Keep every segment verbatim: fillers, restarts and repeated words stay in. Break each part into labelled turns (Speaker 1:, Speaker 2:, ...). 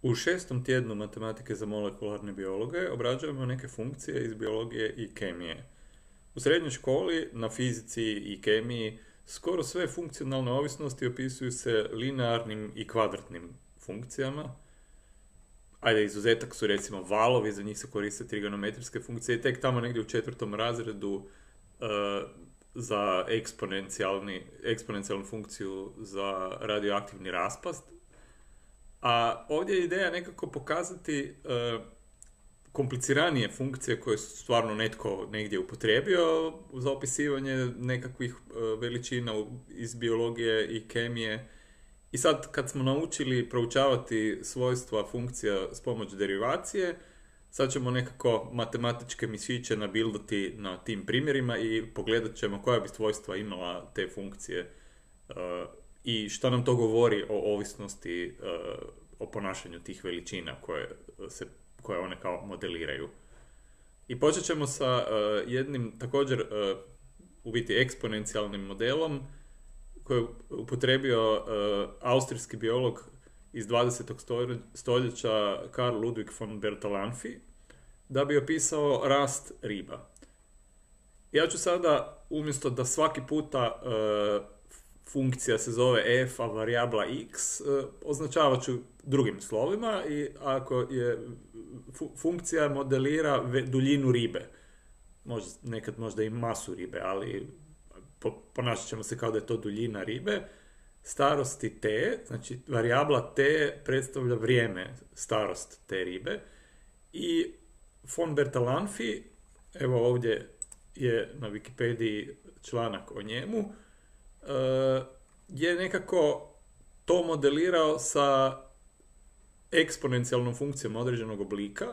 Speaker 1: U šestom tjednu matematike za molekularne biologe obrađujemo neke funkcije iz biologije i kemije. U srednjoj školi na fizici i kemiji skoro sve funkcionalne ovisnosti opisuju se linearnim i kvadratnim funkcijama. Ajde, izuzetak su recimo valovi, za njih se koriste trigonometrijske funkcije i tek tamo negdje u četvrtom razredu e, za eksponencijalni, eksponencijalnu funkciju za radioaktivni raspast. A ovdje je ideja nekako pokazati e, kompliciranije funkcije koje su stvarno netko negdje upotrijebio za opisivanje nekakvih e, veličina iz biologije i kemije. I sad kad smo naučili proučavati svojstva funkcija s pomoć derivacije, sad ćemo nekako matematičke mišiće nabildati na tim primjerima i pogledat ćemo koja bi svojstva imala te funkcije uh, i šta nam to govori o ovisnosti, uh, o ponašanju tih veličina koje, se, koje one kao modeliraju. I počet ćemo sa uh, jednim također uh, u biti eksponencijalnim modelom koji je upotrijebio uh, austrijski biolog iz dvadesetog stoljeća Karl Ludwig von Bertalanffy da bi opisao rast riba. Ja ću sada, umjesto da svaki puta uh, funkcija se zove f, a varijabla x, uh, označavat ću drugim slovima i ako je fu- funkcija modelira ve, duljinu ribe, možda, nekad možda i masu ribe, ali po, ponašat ćemo se kao da je to duljina ribe, starosti t, znači varijabla t predstavlja vrijeme, starost te ribe, i von Bertalanffy, evo ovdje je na Wikipediji članak o njemu, je nekako to modelirao sa eksponencijalnom funkcijom određenog oblika.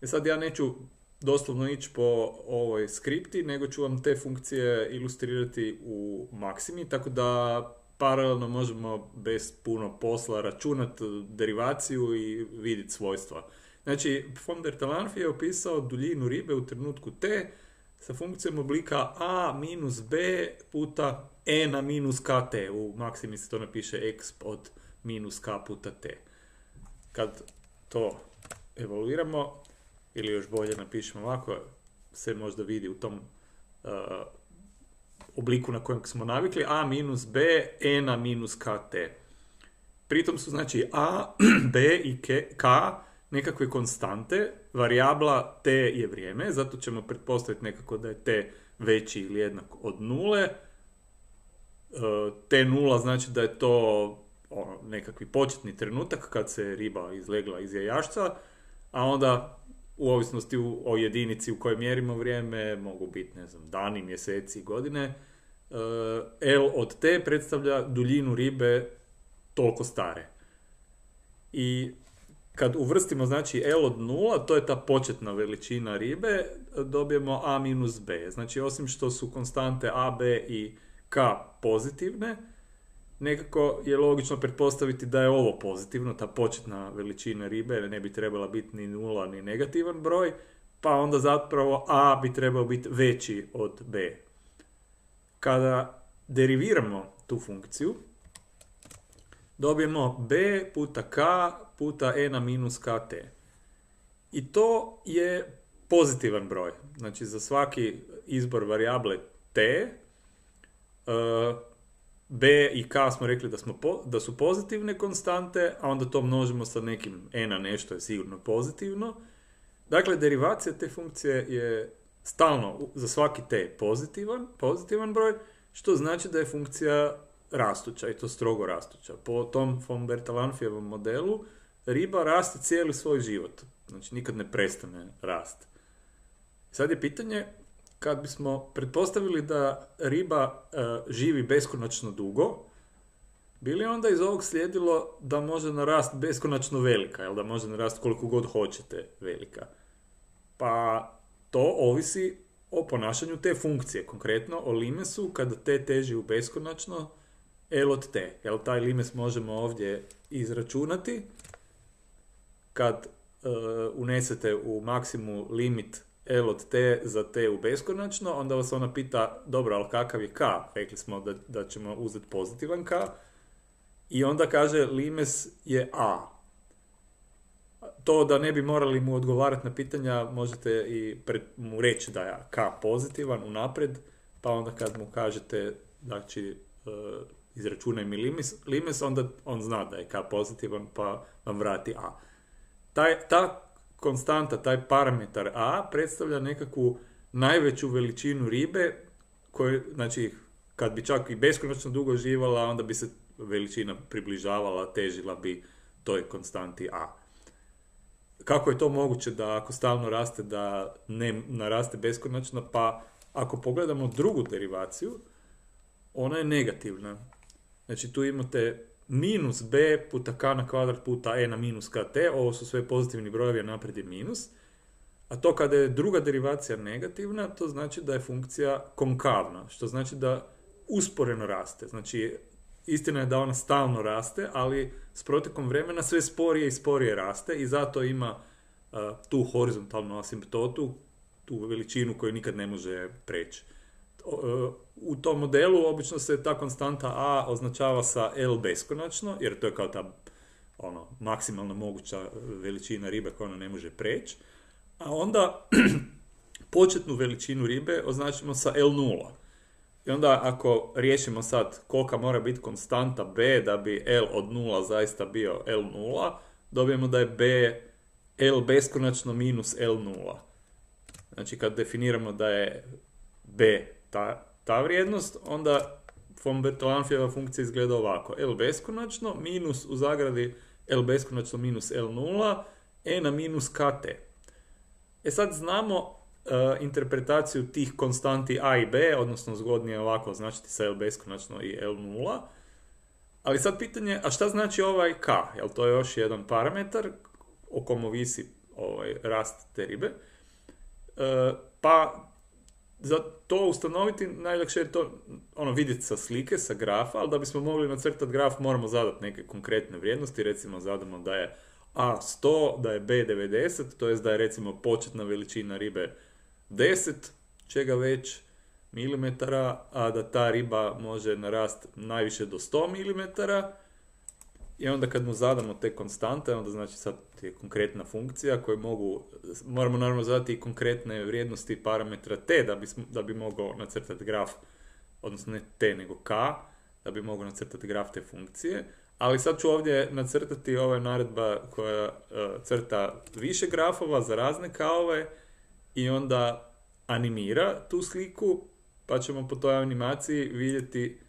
Speaker 1: I sad ja neću doslovno ići po ovoj skripti, nego ću vam te funkcije ilustrirati u maksimi, tako da paralelno možemo bez puno posla računati derivaciju i vidjeti svojstva. Znači, von Bertalanffy je opisao duljinu ribe u trenutku t sa funkcijom oblika a minus b puta e na minus kt. U maksimi se to napiše x od minus k puta t. Kad to evaluiramo, ili još bolje napišemo ovako, se možda vidi u tom uh, obliku na kojem smo navikli, a minus b, e na minus kt. Pritom su znači a, b i k nekakve konstante, varijabla t je vrijeme, zato ćemo pretpostaviti nekako da je t veći ili jednak od nule. T nula znači da je to ono, nekakvi početni trenutak kad se riba izlegla iz jajašca, a onda u ovisnosti o jedinici u kojoj mjerimo vrijeme mogu biti, ne znam, dani, mjeseci, godine. L od t predstavlja duljinu ribe toliko stare. I kad uvrstimo, znači, L od nula, to je ta početna veličina ribe, dobijemo a minus b. Znači, osim što su konstante a, b i k pozitivne, nekako je logično pretpostaviti da je ovo pozitivno, ta početna veličina ribe ne bi trebala biti ni nula ni negativan broj, pa onda zapravo a bi trebao biti veći od b. Kada deriviramo tu funkciju, dobijemo b puta k puta e na minus kt. I to je pozitivan broj. Znači, za svaki izbor varijable t, uh, b i k smo rekli da, smo po, da su pozitivne konstante, a onda to množimo sa nekim e na nešto je sigurno pozitivno. Dakle, derivacija te funkcije je stalno za svaki t pozitivan, pozitivan broj, što znači da je funkcija rastuća, i to strogo rastuća. Po tom von Bertalanffyevom modelu riba raste cijeli svoj život. Znači, nikad ne prestane rast. Sad je pitanje, kad bismo pretpostavili da riba e, živi beskonačno dugo, bi li onda iz ovog slijedilo da može narast beskonačno velika, jel da može narast koliko god hoćete velika? Pa to ovisi o ponašanju te funkcije, konkretno o limesu kada t teži u beskonačno L od t. Jel, taj limes možemo ovdje izračunati. Kad uh, unesete u maksimu limit L od t za t u beskonačno, onda vas ona pita, dobro, ali kakav je k? Rekli smo da, da ćemo uzeti pozitivan k. I onda kaže, limes je a. to da ne bi morali mu odgovarati na pitanja, možete i pred, mu reći da je K pozitivan unaprijed, pa onda kad mu kažete, znači, uh, izračunaj mi limes, limes, onda on zna da je K pozitivan, pa vam vrati A. Taj, ta konstanta, taj parametar A predstavlja nekakvu najveću veličinu ribe, koju, znači, kad bi čak i beskonačno dugo živala, onda bi se veličina približavala, težila bi toj konstanti A. Kako je to moguće da ako stalno raste, da ne naraste beskonačno? Pa ako pogledamo drugu derivaciju, ona je negativna. Znači tu imate minus b puta k na kvadrat puta e na minus kt, ovo su sve pozitivni brojevi, a naprijed je minus. A to kada je druga derivacija negativna, to znači da je funkcija konkavna, što znači da usporeno raste. Znači, istina je da ona stalno raste, ali s protekom vremena sve sporije i sporije raste i zato ima uh, tu horizontalnu asimptotu, tu veličinu koju nikad ne može preći. Uh, u tom modelu obično se ta konstanta a označava sa L beskonačno, jer to je kao ta ono, maksimalna moguća veličina ribe koja ona ne može preći. A onda početnu veličinu ribe označimo sa L nula. I onda ako riješimo sad kolika mora biti konstanta b da bi L od nula zaista bio L nula, dobijemo da je b L beskonačno minus L nula. Znači kad definiramo da je b ta, ta vrijednost, onda von Bertalanffijeva funkcija izgleda ovako. L beskonačno minus u zagradi L beskonačno minus L nula, e na minus kt. E sad znamo uh, interpretaciju tih konstanti a i b, odnosno zgodnije ovako označiti sa L beskonačno i L nula. Ali sad pitanje, a šta znači ovaj k? Jel to je još jedan parametar o kom ovisi ovaj rast te ribe? Uh, pa za to ustanoviti najlakše je to ono, vidjeti sa slike, sa grafa, ali da bismo mogli nacrtati graf moramo zadati neke konkretne vrijednosti, recimo zadamo da je a sto, da je b devedeset, to jest da je recimo početna veličina ribe deset, čega već milimetara, a da ta riba može narasti najviše do sto milimetara. I onda kad mu zadamo te konstante, onda znači sad je konkretna funkcija koju mogu, moramo naravno zadati i konkretne vrijednosti parametra t da bi, da bi mogao nacrtati graf, odnosno ne t nego k, da bi mogao nacrtati graf te funkcije. Ali sad ću ovdje nacrtati ova naredba koja uh, crta više grafova za razne k-ove i onda animira tu sliku, pa ćemo po toj animaciji vidjeti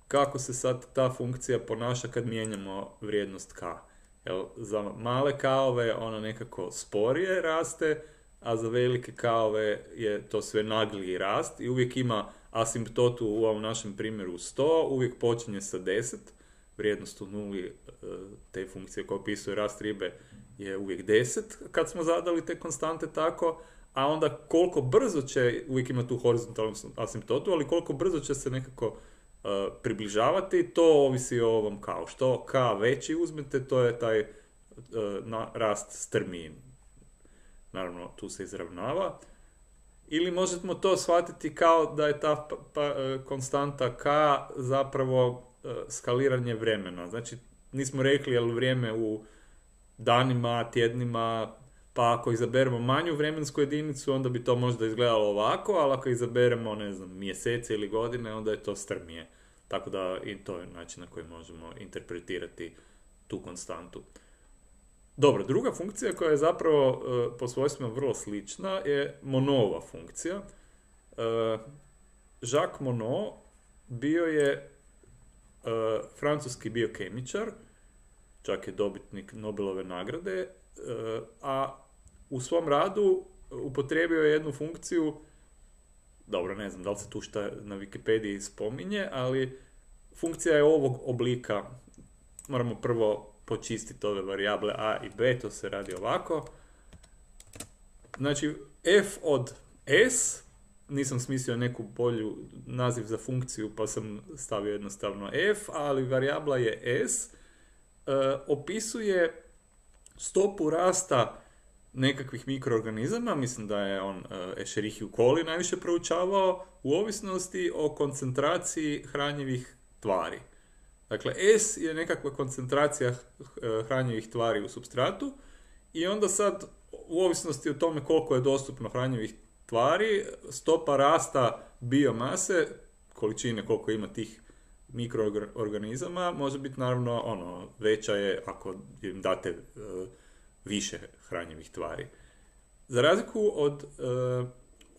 Speaker 1: kako se sad ta funkcija ponaša kad mijenjamo vrijednost k. Jel, za male k-ove ona nekako sporije raste, a za velike k-ove je to sve nagliji rast i uvijek ima asimptotu u ovom našem primjeru sto, uvijek počinje sa deset. Vrijednost u nuli te funkcije koja opisuje rast ribe je uvijek deset kad smo zadali te konstante tako, a onda koliko brzo će, uvijek ima tu horizontalnu asimptotu, ali koliko brzo će se nekako uh, približavati, to ovisi o ovom kao. Što k veći uzmete, to je taj uh, na, rast strmi. Naravno, tu se izravnava. Ili možemo to shvatiti kao da je ta pa, pa, konstanta k zapravo skaliranje vremena. Znači, nismo rekli je li vrijeme u danima, tjednima, pa ako izaberemo manju vremensku jedinicu, onda bi to možda izgledalo ovako, ali ako izaberemo, ne znam, mjesece ili godine, onda je to strmije. Tako da i to je način na koji možemo interpretirati tu konstantu. Dobro, druga funkcija koja je zapravo uh, po svojstvima vrlo slična je Monodova funkcija. Uh, Jacques Monod bio je Uh, francuski biokemičar, čak je dobitnik Nobelove nagrade, uh, a u svom radu upotrijebio je jednu funkciju, dobro, ne znam da li se tu šta na Wikipediji spominje, ali funkcija je ovog oblika. Moramo prvo počistiti ove varijable a i b, to se radi ovako. Znači, f od s, nisam smislio neku bolju naziv za funkciju, pa sam stavio jednostavno f, ali varijabla je s, e, opisuje stopu rasta nekakvih mikroorganizama, mislim da je on e, Escherichia coli najviše proučavao, u ovisnosti o koncentraciji hranjivih tvari. Dakle, S je nekakva koncentracija hranjivih tvari u supstratu i onda sad, u ovisnosti o tome koliko je dostupno hranjivih tvari, stopa rasta biomase, količine koliko ima tih mikroorganizama, može biti naravno ono, veća je ako im date uh, više hranjivih tvari. Za razliku od uh,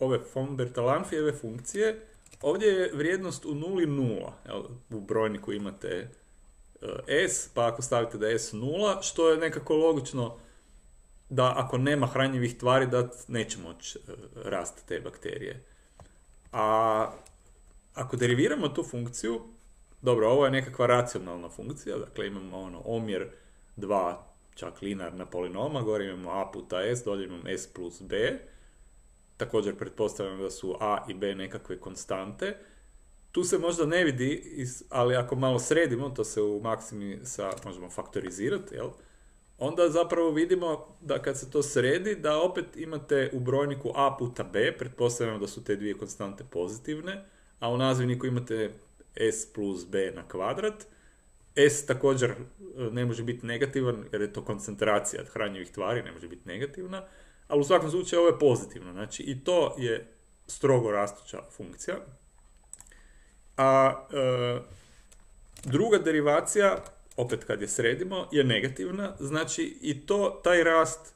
Speaker 1: ove von Bertalanffijeve funkcije, ovdje je vrijednost u nuli nula. Jel, u brojniku imate uh, S, pa ako stavite da je S nula, što je nekako logično da ako nema hranjivih tvari, da neće moći uh, rasti te bakterije. A ako deriviramo tu funkciju, dobro, ovo je nekakva racionalna funkcija, dakle imamo ono, omjer dva čak linearna polinoma, gore imamo a puta s, dolje imamo s plus b, također pretpostavljam da su a i b nekakve konstante. Tu se možda ne vidi, ali ako malo sredimo, to se u maksimi sa, možemo faktorizirati, jel? Onda zapravo vidimo da kad se to sredi, da opet imate u brojniku a puta b, pretpostavljamo da su te dvije konstante pozitivne, a u nazivniku imate s plus b na kvadrat. S također ne može biti negativan, jer je to koncentracija hranjivih tvari, ne može biti negativna, ali u svakom slučaju ovo je pozitivno. Znači i to je strogo rastuća funkcija. A e, druga derivacija, opet kad je sredimo, je negativna, znači i to, taj rast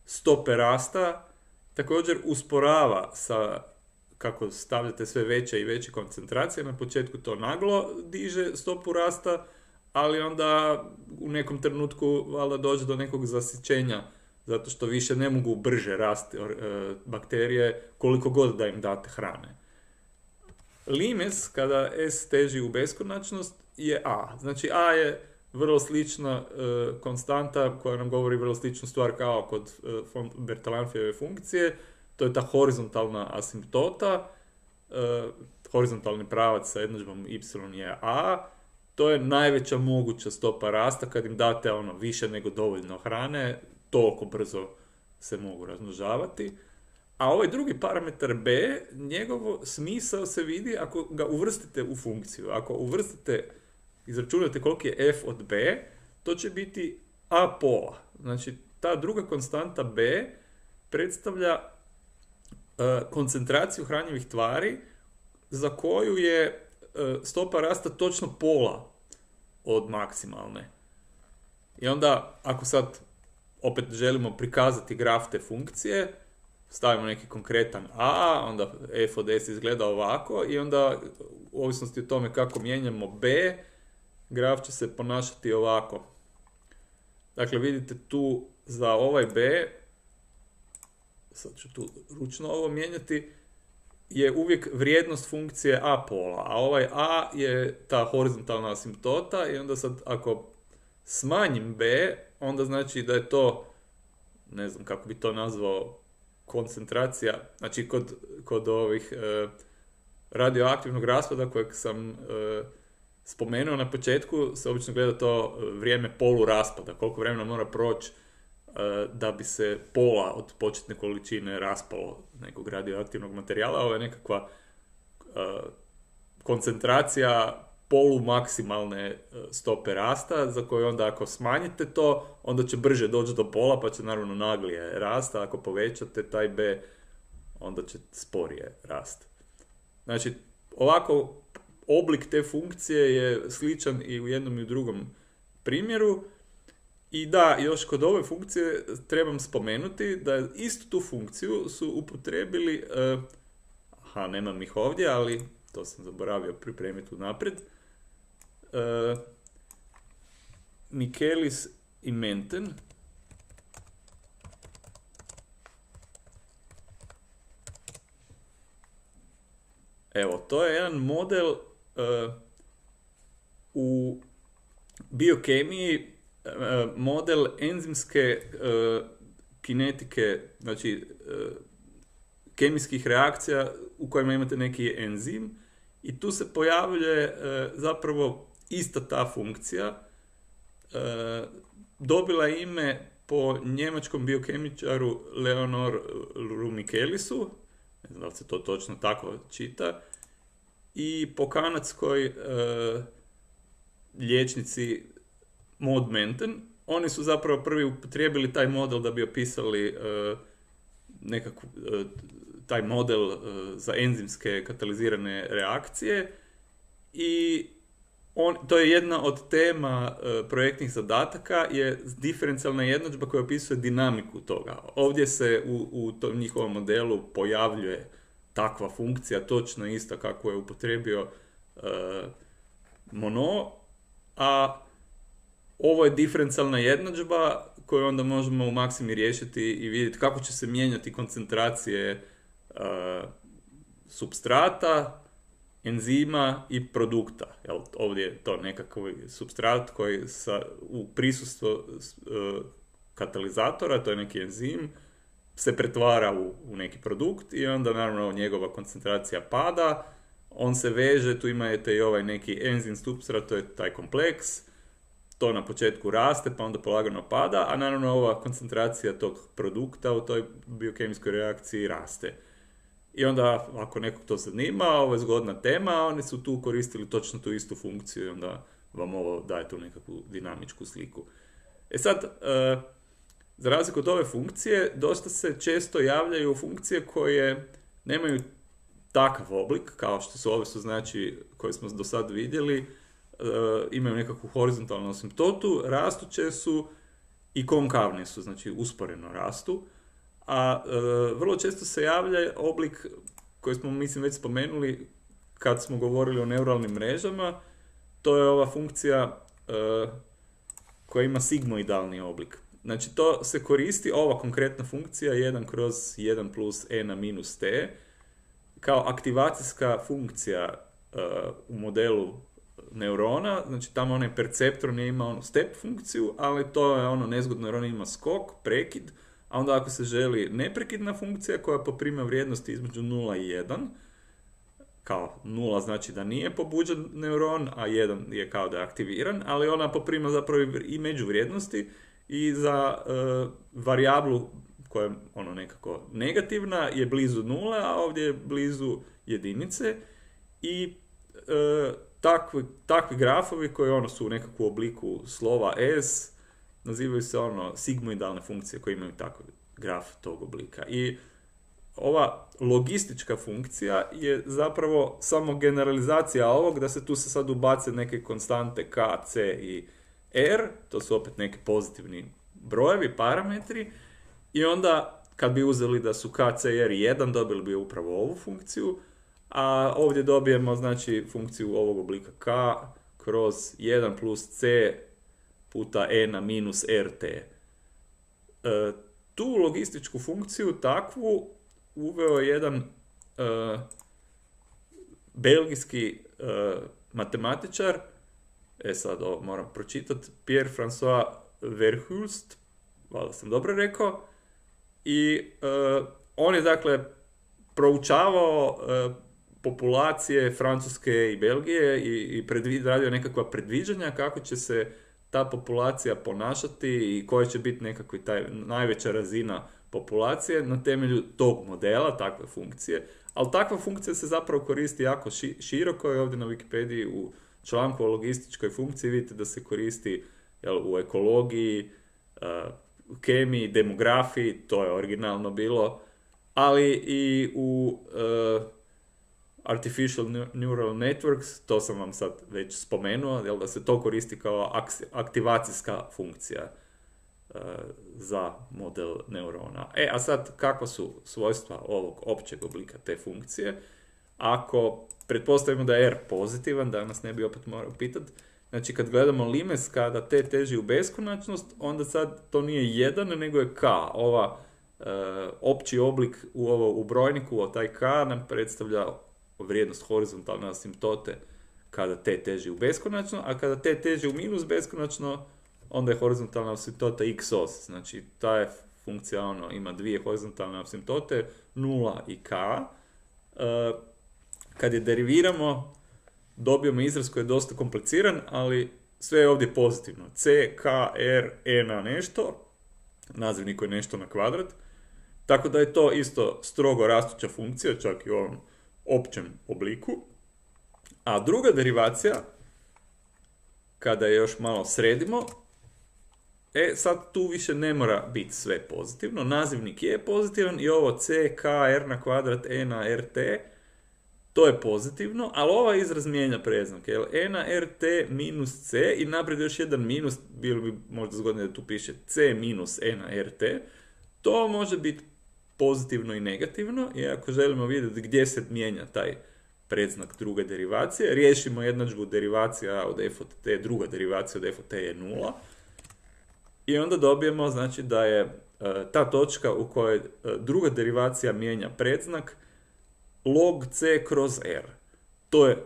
Speaker 1: stope rasta također usporava sa, kako stavljate sve veće i veće koncentracije, na početku to naglo diže stopu rasta, ali onda u nekom trenutku valjda dođe do nekog zasićenja, zato što više ne mogu brže rasti e, bakterije koliko god da im date hrane. Limes, kada S teži u beskonačnost, je A. Znači A je vrlo slična e, konstanta koja nam govori vrlo sličnu stvar kao kod e, von Bertalanffijeve funkcije. To je ta horizontalna asimptota. E, horizontalni pravac sa jednadžbom y je A. To je najveća moguća stopa rasta kad im date ono više nego dovoljno hrane, toliko brzo se mogu razmnožavati. A ovaj drugi parametar b, njegov smisao se vidi ako ga uvrstite u funkciju. Ako uvrstite, izračunate koliki je f od b, to će biti a pola. Znači, ta druga konstanta b predstavlja uh, koncentraciju hranjivih tvari za koju je uh, stopa rasta točno pola od maksimalne. I onda, ako sad opet želimo prikazati graf te funkcije, stavimo neki konkretan a, onda f od s izgleda ovako i onda u ovisnosti o tome kako mijenjamo b, graf će se ponašati ovako. Dakle, vidite tu za ovaj b, sad ću tu ručno ovo mijenjati, je uvijek vrijednost funkcije a pola, a ovaj a je ta horizontalna asimptota i onda sad ako smanjim b, onda znači da je to, ne znam kako bi to nazvao, koncentracija, znači kod, kod ovih e, radioaktivnog raspada kojeg sam e, spomenuo na početku, se obično gleda to vrijeme poluraspada, koliko vremena mora proći e, da bi se pola od početne količine raspalo nekog radioaktivnog materijala. Ovo je nekakva e, koncentracija polumaksimalne stope rasta, za koju onda ako smanjite to, onda će brže doći do pola, pa će naravno naglije rasta. Ako povećate taj b, onda će sporije rasti. Znači, ovako oblik te funkcije je sličan i u jednom i u drugom primjeru. I da, još kod ove funkcije trebam spomenuti da istu tu funkciju su upotrijebili, uh, aha, nemam ih ovdje, ali to sam zaboravio pripremiti unaprijed, uh, Michaelis i Menten. Evo, to je jedan model uh, u biokemiji, uh, model enzimske uh, kinetike, znači uh, kemijskih reakcija u kojima imate neki enzim i tu se pojavljuje uh, zapravo ista ta funkcija. Uh, dobila ime po njemačkom biokemičaru Leonoru Michaelisu, ne znam da li se to točno tako čita, i po kanadskoj uh, liječnici Maud Menten, oni su zapravo prvi upotrijebili taj model da bi opisali uh, nekakvu, uh, taj model uh, za enzimske katalizirane reakcije i on, to je jedna od tema uh, projektnih zadataka, je diferencijalna jednadžba koja opisuje dinamiku toga. Ovdje se u, u tom njihovom modelu pojavljuje takva funkcija, točno ista kako je upotrijebio uh, Monod, a ovo je diferencijalna jednadžba koju onda možemo u maksimi riješiti i vidjeti kako će se mijenjati koncentracije uh, supstrata, enzima i produkta. Jel, ovdje je to nekakav supstrat koji sa, u prisustvu uh, katalizatora, to je neki enzim, se pretvara u, u neki produkt i onda naravno njegova koncentracija pada, on se veže, tu imate i ovaj neki enzim supstrat, to je taj kompleks, to na početku raste pa onda polagano pada, a naravno ova koncentracija tog produkta u toj biokemijskoj reakciji raste. I onda, ako nekog to zanima, ovo je zgodna tema, oni su tu koristili točno tu istu funkciju i onda vam ovo daje tu nekakvu dinamičku sliku. E sad, e, za razliku od ove funkcije, dosta se često javljaju funkcije koje nemaju takav oblik, kao što su ove su znači koje smo do sad vidjeli, e, imaju nekakvu horizontalnu asimtotu, rastuće su i konkavne su, znači usporeno rastu. A e, vrlo često se javlja oblik koji smo, mislim, već spomenuli kad smo govorili o neuralnim mrežama, to je ova funkcija e, koja ima sigmoidalni oblik. Znači to se koristi, ova konkretna funkcija jedan kroz jedan plus e na minus t, kao aktivacijska funkcija uh, u modelu neurona, znači tamo onaj perceptor nije ima onu step funkciju, ali to je ono nezgodno jer on ima skok, prekid, a onda ako se želi neprekidna funkcija koja poprima vrijednosti između nula i jedan, kao nula znači da nije pobuđen neuron, a jedan je kao da je aktiviran, ali ona poprima zapravo i međuvrijednosti i za uh, varijablu koja je ono nekako negativna je blizu nula, a ovdje je blizu jedinice i e, takvi, takvi grafovi koji ono su u nekakvu obliku slova S nazivaju se ono sigmoidalne funkcije koje imaju takav graf tog oblika. I ova logistička funkcija je zapravo samo generalizacija ovog, da se tu se sad ubace neke konstante K, C i R, to su opet neki pozitivni brojevi, parametri, i onda kad bi uzeli da su K, C, R jedan, dobili bi upravo ovu funkciju, a ovdje dobijemo znači funkciju ovog oblika K kroz jedan plus C puta E na minus R T. E, tu logističku funkciju takvu uveo jedan e, belgijski e, matematičar, e sad ovo moram pročitati, Pierre-François Verhulst, valjda sam dobro rekao, i e, on je dakle proučavao e, populacije Francuske i Belgije i, i predvid, radio nekakva predviđanja kako će se ta populacija ponašati i koja će biti nekakva taj najveća razina populacije na temelju tog modela, takve funkcije. Ali takva funkcija se zapravo koristi jako ši, široko i ovdje na Wikipediji u članku o logističkoj funkciji vidite da se koristi jel, u ekologiji, uh, u kemiji, demografiji, to je originalno bilo, ali i u uh, Artificial Neural Networks, to sam vam sad već spomenuo, jel, da se to koristi kao aktivacijska funkcija uh, za model neurona. E, a sad, kakva su svojstva ovog općeg oblika te funkcije? Ako pretpostavimo da je R pozitivan, danas ne bi opet morao pitati, znači kad gledamo limes kada t teži u beskonačnost, onda sad to nije jedan, nego je k. Ova uh, opći oblik u, ovo, u brojniku, taj k nam predstavlja vrijednost horizontalne asimtote kada t teži u beskonačno, a kada t teži u minus beskonačno, onda je horizontalna asimtota xos. Znači ta je funkcija ono, ima dvije horizontalne asimtote, nula i k. Uh, kad je deriviramo, dobijemo izraz koji je dosta kompliciran, ali sve je ovdje pozitivno. C, K, R, E na nešto, nazivnik je nešto na kvadrat, tako da je to isto strogo rastuća funkcija, čak i u ovom općem obliku. A druga derivacija, kada je još malo sredimo, E, sad tu više ne mora biti sve pozitivno, nazivnik je pozitivan i ovo c, k, r na kvadrat, e na rt, to je pozitivno, ali ovaj izraz mijenja predznak, jer e na rt minus c i naprijed još jedan minus, bilo bi možda zgodno da tu piše c minus e na rt, to može biti pozitivno i negativno, i ako želimo vidjeti gdje se mijenja taj predznak druge derivacije, riješimo jednadžbu derivacija od f od t, druga derivacija od f od t je nula, i onda dobijemo, znači, da je uh, ta točka u kojoj uh, druga derivacija mijenja predznak log c kroz r. To je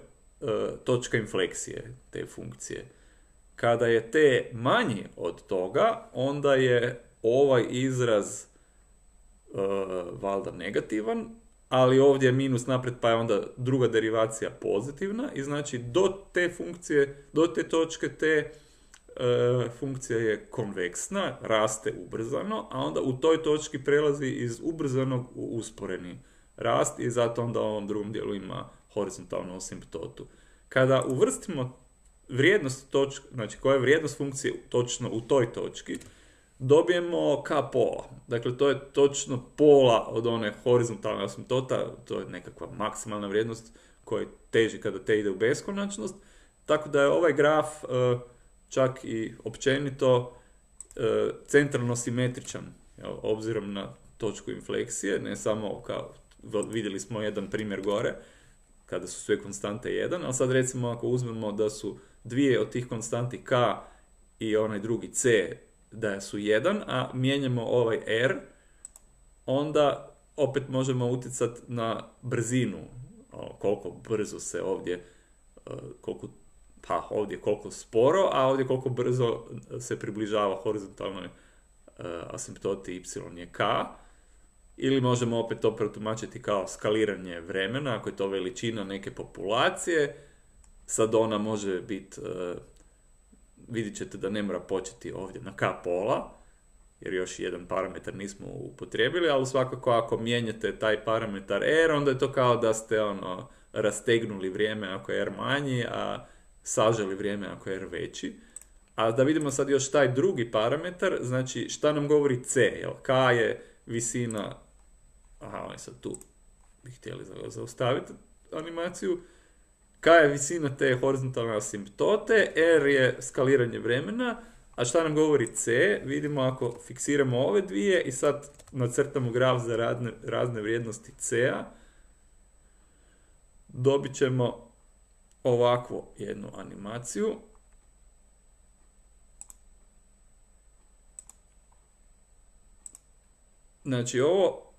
Speaker 1: uh, točka infleksije te funkcije. Kada je t manji od toga, onda je ovaj izraz uh, valjda negativan, ali ovdje je minus naprijed, pa je onda druga derivacija pozitivna, i znači do te funkcije, do te točke te uh, funkcija je konveksna, raste ubrzano, a onda u toj točki prelazi iz ubrzanog u usporeni rast i zato onda u ovom drugom dijelu ima horizontalnu asimptotu. Kada uvrstimo vrijednost točke, znači koja je vrijednost funkcije točno u toj točki, dobijemo k pola. Dakle, to je točno pola od one horizontalne asimptota, to je nekakva maksimalna vrijednost koja teži kada te ide u beskonačnost, tako da je ovaj graf uh, čak i općenito uh, centralno simetričan, jel, obzirom na točku infleksije, ne samo kao vidjeli smo jedan primjer gore, kada su sve konstante jedan, ali sad recimo ako uzmemo da su dvije od tih konstanti k i onaj drugi c da su jedan, a mijenjamo ovaj r, onda opet možemo utjecati na brzinu, koliko brzo se ovdje, koliko, pa ovdje koliko sporo, a ovdje koliko brzo se približava horizontalnoj asimptoti y je k. Ili možemo opet to protumačiti kao skaliranje vremena, ako je to veličina neke populacije, sad ona može biti, uh, vidjet ćete da ne mora početi ovdje na k pola, jer još jedan parametar nismo upotrijebili, ali svakako ako mijenjate taj parametar r, onda je to kao da ste ono, rastegnuli vrijeme ako je r manji, a saželi vrijeme ako je r veći. A da vidimo sad još taj drugi parametar, znači šta nam govori c, jel? K je visina, aha, oni sad tu bi htjeli zaustaviti animaciju, k je visina te horizontalne asimptote, r je skaliranje vremena, a šta nam govori c, vidimo ako fiksiramo ove dvije i sad nacrtamo graf za razne, razne vrijednosti c-a, dobit ćemo ovakvu jednu animaciju. Znači ovo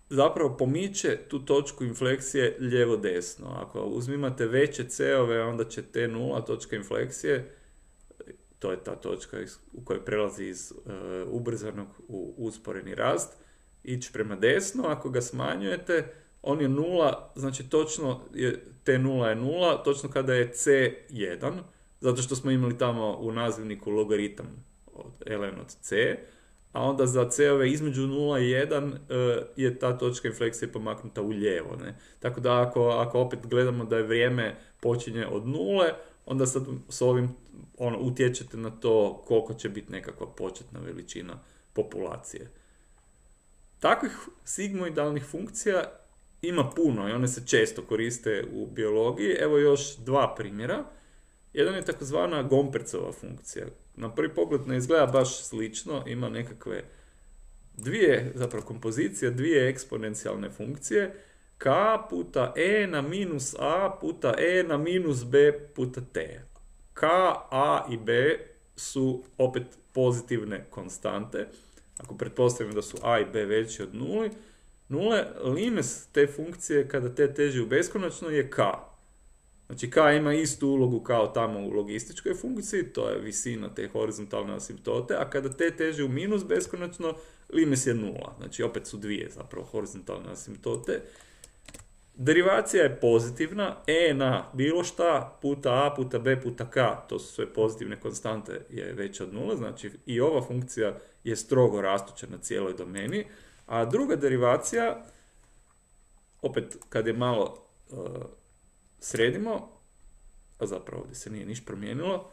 Speaker 1: zapravo pomiče tu točku infleksije lijevo-desno. Ako uzmimate veće c-ove, onda će t nula, točka infleksije, to je ta točka u kojoj prelazi iz uh, ubrzanog u usporeni rast, ići prema desno. Ako ga smanjujete, on je nula, znači točno je, t nula je nula, točno kada je c jedan, zato što smo imali tamo u nazivniku logaritam od ln od c, a onda za c-ove između nula i jedan uh, je ta točka infleksije pomaknuta u lijevo. Ne? Tako da ako, ako opet gledamo da je vrijeme počinje od nule, onda sad s ovim ono, utječete na to koliko će biti nekakva početna veličina populacije. Takvih sigmoidalnih funkcija ima puno i one se često koriste u biologiji. Evo još dva primjera. Jedan je takozvana Gompertsova funkcija. Na prvi pogled ne izgleda baš slično, ima nekakve dvije, zapravo kompozicija, dvije eksponencijalne funkcije, k puta e na minus a puta e na minus b puta t. K, a i b su opet pozitivne konstante. Ako pretpostavimo da su a i b veći od nule, nule, limes te funkcije kada t teži u beskonačno je k. Znači k ima istu ulogu kao tamo u logističkoj funkciji, to je visina te horizontalne asimptote, a kada t teži u minus beskonačno, limes je nula. Znači opet su dvije zapravo horizontalne asimptote. Derivacija je pozitivna, e na bilo šta puta a puta b puta k, to su sve pozitivne konstante, je veća od nula, znači i ova funkcija je strogo rastuća na cijeloj domeni, a druga derivacija, opet kad je malo uh, sredimo, a zapravo ovdje se nije niš promijenilo,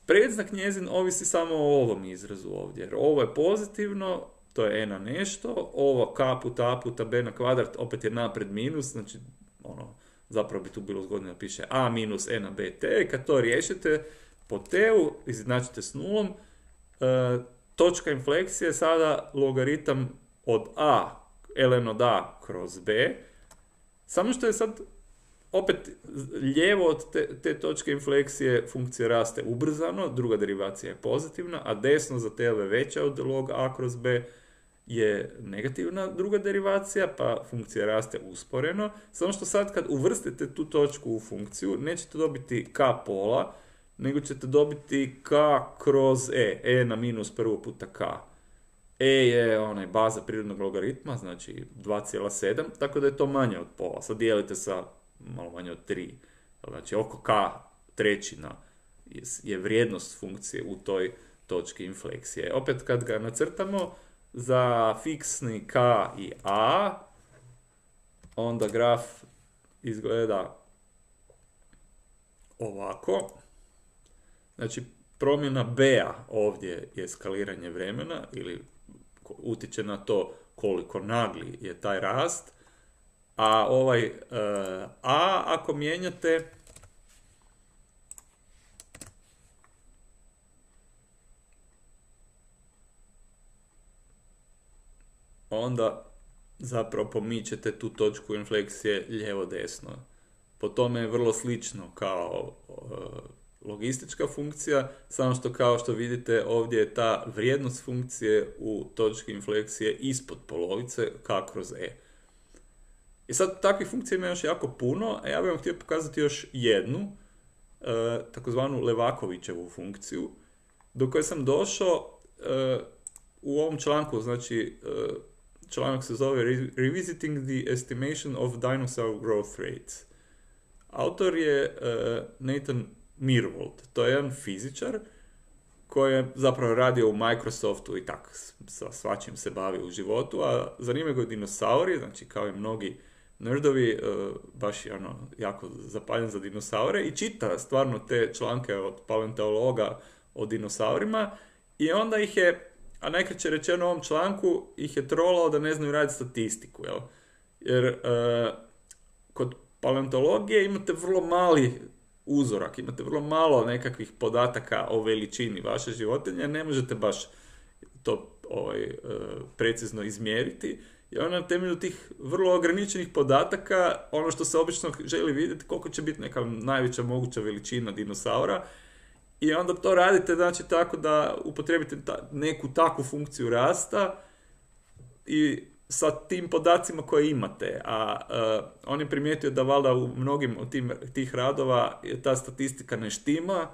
Speaker 1: predznak njezin ovisi samo o ovom izrazu ovdje, jer ovo je pozitivno, to je e na nešto, ovo k puta a puta b na kvadrat opet je napred minus, znači ono, zapravo bi tu bilo zgodno da piše a minus e na bt, kad to riješite po t-u, izjednačite s nulom, e, točka infleksije je sada logaritam od a, ln od a kroz b, samo što je sad opet lijevo od te, te točke infleksije funkcija raste ubrzano, druga derivacija je pozitivna, a desno za tl je veća od log a kroz b je negativna druga derivacija, pa funkcija raste usporeno. Samo što sad kad uvrstite tu točku u funkciju, nećete dobiti k pola, nego ćete dobiti k kroz e, e na minus prvo puta k. E je onaj baza prirodnog logaritma, znači dva zarez sedam, tako da je to manje od pola. Sad dijelite sa malo manje od tri. Znači oko k trećina je vrijednost funkcije u toj točki infleksije. Opet kad ga nacrtamo, za fiksni k i a, onda graf izgleda ovako. Znači promjena b-a ovdje je skaliranje vremena, ili utječe na to koliko nagli je taj rast, a ovaj uh, a ako mijenjate onda zapravo pomičete tu točku infleksije lijevo-desno. Po tome je vrlo slično kao uh, logistička funkcija, samo što kao što vidite ovdje je ta vrijednost funkcije u točki infleksije ispod polovice k kroz e. I sad takvih funkcija ima još jako puno, a ja bih vam htio pokazati još jednu, e, takozvanu Levakovićevu funkciju, do koje sam došao e, u ovom članku, znači e, članak se zove Revisiting the Estimation of Dinosaur Growth Rates. Autor je e, Nathan Myhrvold, to je jedan fizičar koji je zapravo radio u Microsoftu i tak sa svačim se bavi u životu, a zanimaju ga dinosauri, znači kao i mnogi nerdovi, baš je ono jako zapaljen za dinosaure i čita stvarno te članke od paleontologa o dinosaurima i onda ih je, a najkraće rečeno u ovom članku, ih je trolao da ne znaju raditi statistiku, jel? Jer e, kod paleontologije imate vrlo mali uzorak, imate vrlo malo nekakvih podataka o veličini vaše životinje, ne možete baš to ovaj, e, precizno izmjeriti. I onda na temelju tih vrlo ograničenih podataka, ono što se obično želi vidjeti, koliko će biti neka najveća moguća veličina dinosaura, i onda to radite znači tako da upotrijebite ta, neku takvu funkciju rasta i sa tim podacima koje imate. A uh, on je primijetio da valjda u mnogim od tim, tih radova ta statistika ne štima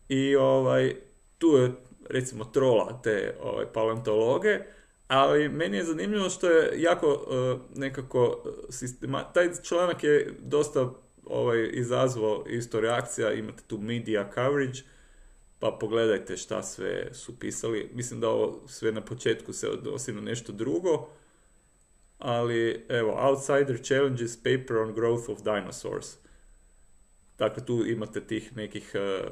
Speaker 1: i ovaj, tu je recimo trola te ovaj, paleontologe. Ali meni je zanimljivo što je jako uh, nekako sistema... Taj članak je dosta ovaj, izazvao isto reakcija, imate tu media coverage, pa pogledajte šta sve su pisali. Mislim da ovo sve na početku se odnosi na nešto drugo, ali evo, Outsider challenges paper on growth of dinosaurs. Dakle, tu imate tih nekih uh,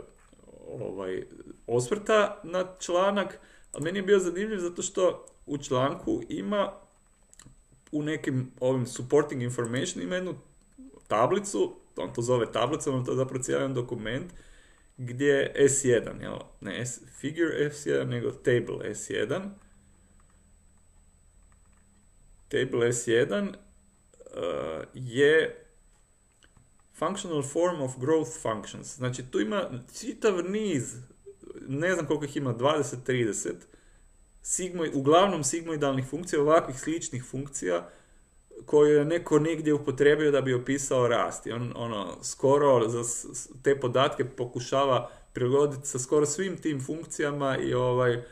Speaker 1: ovaj, osvrta na članak, ali meni je bio zanimljiv zato što u članku ima u nekim ovim supporting information ima jednu tablicu, on to zove tablicom, on to je zapravo cijeli dokument gdje je es jedan, jel? Ne S, figure es jedan, nego table es jedan. Table es jedan uh, je functional form of growth functions. Znači tu ima čitav niz, ne znam koliko ih ima, dvadeset trideset, sigmoj, uglavnom sigmoidalnih funkcija, ovakvih sličnih funkcija koje je neko negdje upotrijebio da bi opisao rast. I on ono, skoro za te podatke pokušava prilagoditi sa skoro svim tim funkcijama i ovaj,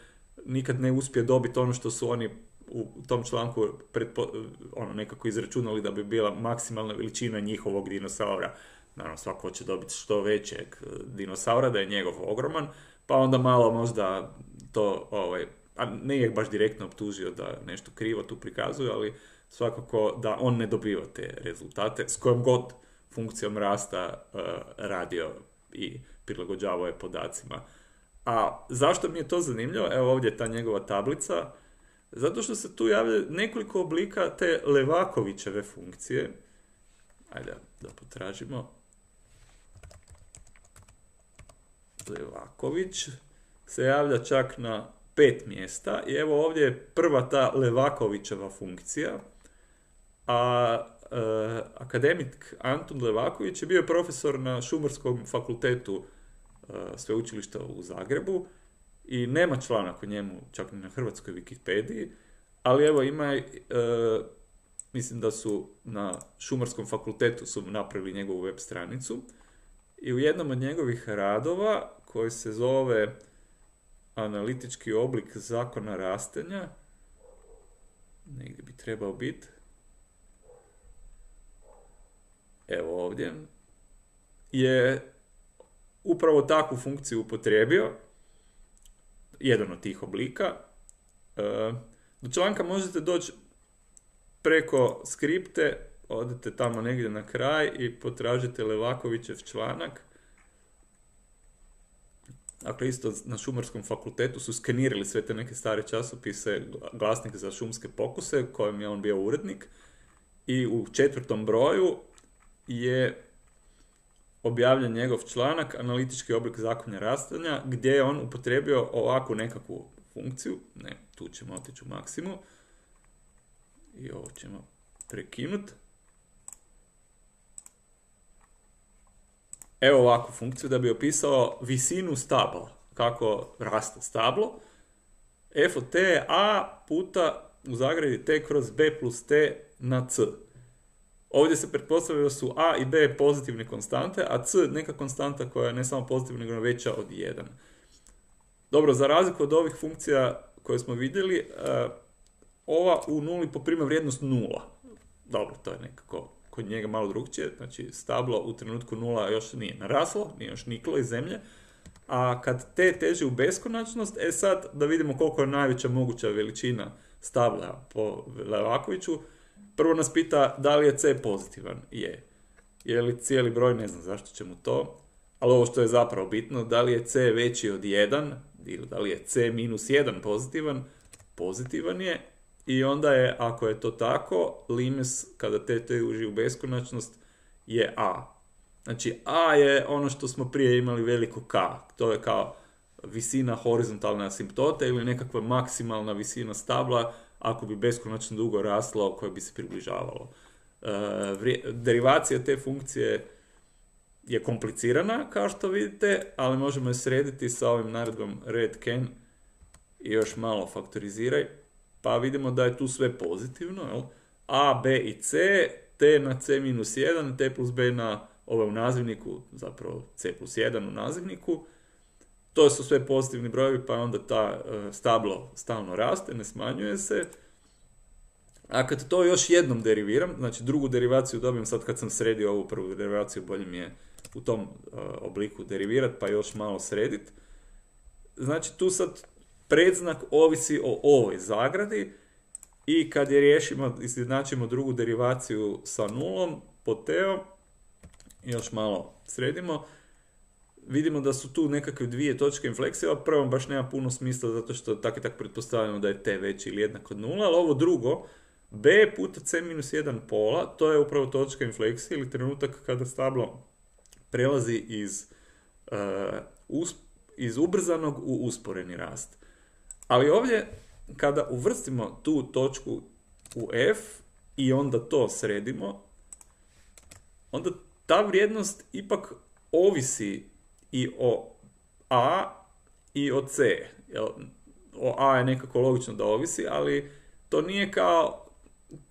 Speaker 1: nikad ne uspije dobiti ono što su oni u tom članku predpo, ono, nekako izračunali da bi bila maksimalna veličina njihovog dinosaura. Naravno, svako hoće dobiti što većeg dinosaura, da je njegov ogroman, pa onda malo možda to, ovaj, a ne je baš direktno optužio da nešto krivo tu prikazuje, ali svakako da on ne dobiva te rezultate s kojom god funkcijom rasta uh, radio i prilagođavao je podacima. A zašto mi je to zanimljivo? Evo ovdje je ta njegova tablica. Zato što se tu javlja nekoliko oblika te Levakovićeve funkcije. Ajde da potražimo. Levaković se javlja čak na pet mjesta i evo ovdje je prva ta Levakovićeva funkcija, a e, akademik Antun Levaković je bio profesor na Šumarskom fakultetu e, sveučilišta u Zagrebu i nema članak o njemu čak ni na hrvatskoj Wikipediji, ali evo ima, e, mislim da su na Šumarskom fakultetu su napravili njegovu web stranicu i u jednom od njegovih radova koji se zove Analitički oblik zakona rastenja, negdje bi trebao biti, evo ovdje, je upravo takvu funkciju upotrijebio, jedan od tih oblika. Do članka možete doći preko skripte, odete tamo negdje na kraj i potražite Levakovićev članak. Dakle, isto na Šumarskom fakultetu su skenirali sve te neke stare časopise, Glasnik za šumske pokuse, kojem je on bio urednik, i u četvrtom broju je objavljen njegov članak Analitički oblik zakona rastenja, gdje je on upotrijebio ovakvu nekakvu funkciju. Ne, tu ćemo otići u maksimu i ovo ćemo prekinuti. Evo ovakvu funkciju da bi opisao visinu stabla, kako raste stablo. F od t je a puta u zagradi t kroz b plus t na c. Ovdje se pretpostavlja da su a i b pozitivne konstante, a c neka konstanta koja je ne samo pozitivna, nego veća od jedan. Dobro, za razliku od ovih funkcija koje smo vidjeli, ova u nuli poprima vrijednost nula. Dobro, to je nekako kod njega malo drugčije, znači stablo u trenutku nula još nije naraslo, nije još niklo iz zemlje, a kad t teži u beskonačnost, e sad da vidimo koliko je najveća moguća veličina stabla po Levakoviću, prvo nas pita da li je c pozitivan, je. Je li cijeli broj, ne znam zašto će mu to, ali ovo što je zapravo bitno, da li je c veći od jedan, ili da li je c minus jedan pozitivan, pozitivan je. I onda je, ako je to tako, limes, kada t teži u beskonačnost, je a. Znači, a je ono što smo prije imali veliko k. To je kao visina horizontalne asimptote ili nekakva maksimalna visina stabla ako bi beskonačno dugo raslo koje bi se približavalo. E, derivacija te funkcije je komplicirana, kao što vidite, ali možemo je srediti sa ovim naredbom red can i još malo faktoriziraj. Pa vidimo da je tu sve pozitivno, jel? A, B i C, T na C minus jedan, T plus B na ove u nazivniku, zapravo C plus jedan u nazivniku. To su sve pozitivni brojevi, pa onda ta uh, stablo stalno raste, ne smanjuje se. A kad to još jednom deriviram, znači drugu derivaciju dobijem sad kad sam sredio ovu prvu derivaciju, bolje mi je u tom uh, obliku derivirati, pa još malo srediti. Znači tu sad predznak ovisi o ovoj zagradi i kad je riješimo, izjednačimo drugu derivaciju sa nulom po t-om, još malo sredimo, vidimo da su tu nekakve dvije točke infleksije. Ovo prvom baš nema puno smisla zato što tako i tako pretpostavljamo da je t veći ili jednak od nula, ali ovo drugo, b puta c minus jedan pola, to je upravo točka infleksije ili trenutak kada stablo prelazi iz, uh, us, iz ubrzanog u usporeni rast. Ali ovdje, kada uvrstimo tu točku u f i onda to sredimo, onda ta vrijednost ipak ovisi i o a i o c. O a je nekako logično da ovisi, ali to nije kao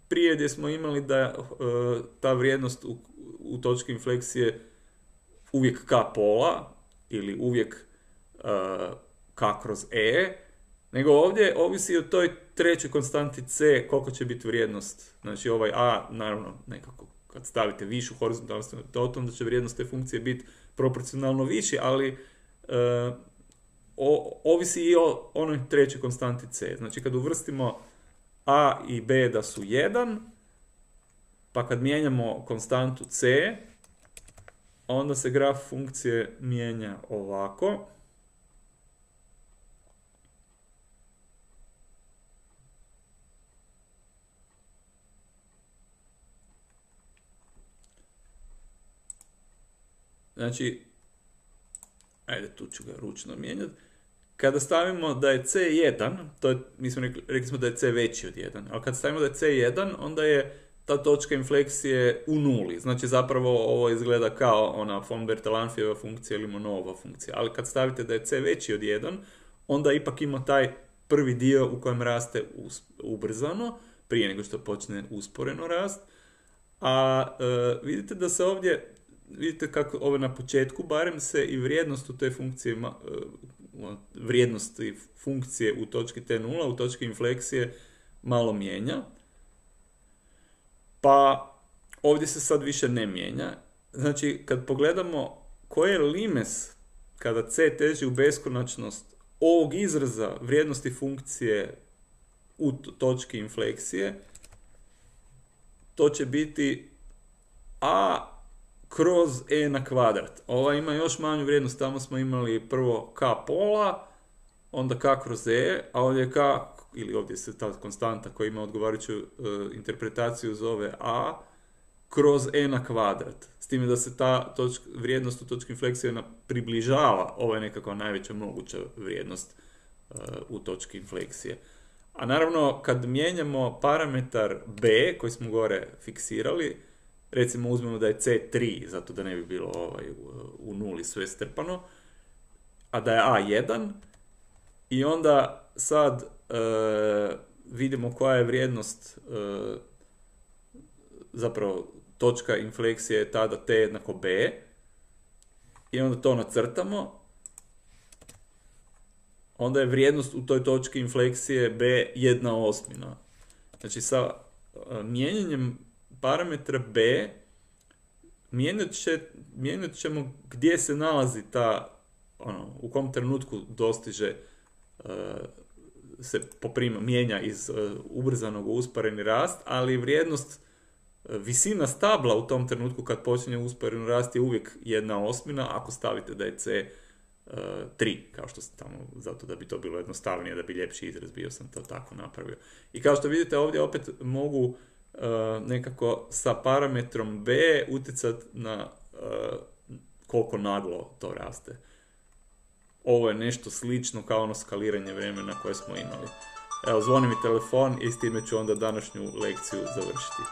Speaker 1: prije gdje smo imali da uh, ta vrijednost u, u točki infleksije uvijek k pola ili uvijek uh, k kroz e, nego ovdje ovisi o toj trećoj konstanti c koliko će biti vrijednost. Znači ovaj a, naravno, nekako kad stavite višu horizontalnu asimptotu, onda će vrijednost te funkcije biti proporcionalno viši, ali e, o, ovisi i o onoj trećoj konstanti c. Znači kad uvrstimo a i b da su jedan, pa kad mijenjamo konstantu c, onda se graf funkcije mijenja ovako. Znači, ajde, tu ću ga ručno mijenjati. Kada stavimo da je C jedan, to je, mi smo rekli, rekli smo da je C veći od jedan, ali kad stavimo da je C jedan, onda je ta točka infleksije u nuli. Znači, zapravo ovo izgleda kao ona von Bertalanffijeva funkcija ili Monodova funkcija. Ali kad stavite da je C veći od jedan, onda ipak ima taj prvi dio u kojem raste ubrzano, prije nego što počne usporeno rast. A e, vidite da se ovdje, vidite kako ovo na početku, barem se i vrijednost u te funkcije, e, vrijednosti funkcije u točki T nula, u točki infleksije, malo mijenja. Pa ovdje se sad više ne mijenja. Znači, kad pogledamo koji je limes kada C teži u beskonačnost ovog izraza vrijednosti funkcije u točki infleksije, to će biti a kroz e na kvadrat. Ova ima još manju vrijednost, tamo smo imali prvo k pola, onda k kroz e, a ovdje je k, ili ovdje se ta konstanta koja ima odgovarajuću uh, interpretaciju zove a kroz e na kvadrat. S time da se ta točka, vrijednost u točki infleksije približava, ovo je nekako najveća moguća vrijednost uh, u točki infleksije. A naravno, kad mijenjamo parametar b, koji smo gore fiksirali, recimo uzmemo da je C tri, zato da ne bi bilo ovaj, u nuli sve strpano, a da je a jedan, i onda sad e, vidimo koja je vrijednost, e, zapravo točka infleksije je tada t jednako b, i onda to nacrtamo, onda je vrijednost u toj točki infleksije b jedna osmina. Znači sa e, mijenjanjem parametra b mijenjat, će, mijenjat ćemo gdje se nalazi ta, ono, u kom trenutku dostiže, uh, se poprima, mijenja iz uh, ubrzanog u usporeni rast, ali vrijednost, uh, visina stabla u tom trenutku kad počinje usporeni rast je uvijek jedna osmina, ako stavite da je C uh, tri, kao što sam tamo, zato da bi to bilo jednostavnije, da bi ljepši izraz bio, sam to tako napravio. I kao što vidite ovdje opet mogu Uh, nekako sa parametrom b utjecati na uh, koliko naglo to raste. Ovo je nešto slično kao ono skaliranje vremena koje smo imali. Evo, zvoni mi telefon i s time ću onda današnju lekciju završiti.